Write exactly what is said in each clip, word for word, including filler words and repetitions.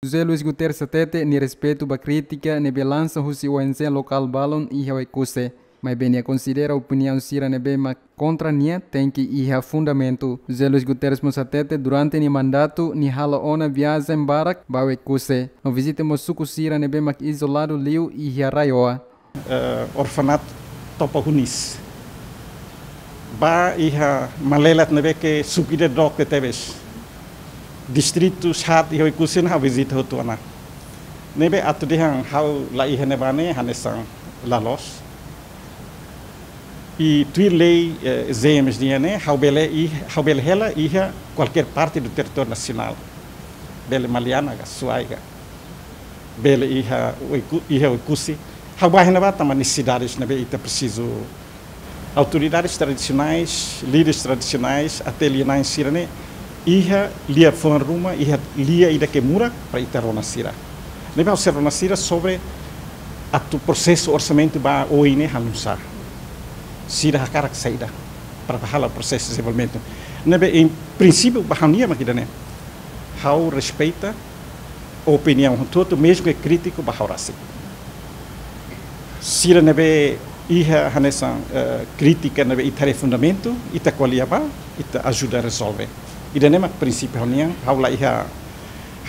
José Luis Guterres hatete nia respeitu ba krítika ne'ebé lansa husi O N G lokál balun iha Oekusi. Maibé nia konsidera opiniaun sira ne'ebé mak kontra nia tenke iha fundamentu. José Luis Guterres mós hatete durante nia mandatu nia hala'o ona viajen barak ba Oekusi. No vizita mós suku sira ne'ebé mak izoladu liu iha RAEOA. Eh, orfanatu Topa Hunis. Bá iha malelat ne'ebé ke suku ida dook tebes. Distritu haat iha Oekusi ne'e ha'u vizita hotu ona. Ne'ebé atu dehan ha'u la iha ne'ebá ne'e hanesan la loos. I tuir lei, eh, G M S D ne'e, ha'u bele i, ha'u bele hela iha kualkér parte do territóriu nasionál. Bele Maliana ka, Suai ka. Bele iha Oeku-, iha Oekusi. Ha'u bá iha ne'ebá tanba nesesidades ne'ebé ita presiza. Autoridades tradisionais, líderes tradisionais, até lia-na'in sira-ne'e, iha lia-fuan ruma, iha lia ida ke murak para ita rona sira. Ne'ebé ha'u sei rona sira sobre atu prosesu orsamentu ba oin ne'e hanusá. Sira hakarak saida para halo prosesu dezenvolvimentu. Ne'ebé em princípio ba ha'u-nia mak ida-ne'e. Ha'u respeita opiniaun hotu-hotu, mezmu ke krítiku ba ha'u rasik. Sira ne'ebé iha hanesan, eh, krítika ne'ebé ita haree fundamentu, ita ko'alia bá, ita ajuda rezolve. Ida-ne'e mak prinsípiu ha'u-nian, ha'u la iha,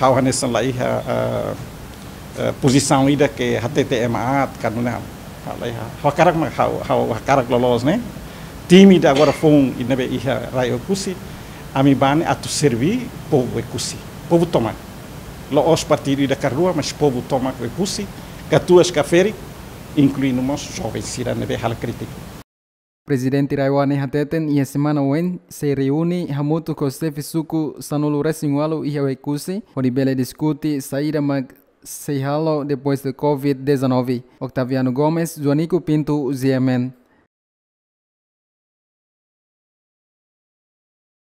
ha'u hanesan la iha, eh, eh, pozisaun ida ke hatete ema aat, ka nune'e. Ha'u la iha, ha'u hakarak mak, ha'u, ha'u hakarak loloos ne'e. Time ida agora foun, ida ne'ebé iha rai Oekusi, ami bá ne'e atu serví povu Oekusi, povu tomak. La'ós partidu ida ka rua, mas povu tomak Oekusi, katuas ka ferik, inkluindu mós joven sira ne'ebé halo krítika. Prezidente RAEOA ne'e hateten iha semana oin sei reúne hamutuk ho xefe suku sanulu-resin-ualu iha Oekusi, hodi bele diskute saida mak sei halo depois de covid dezanove. Octaviano Gomes, Joanico Pinto, G M N.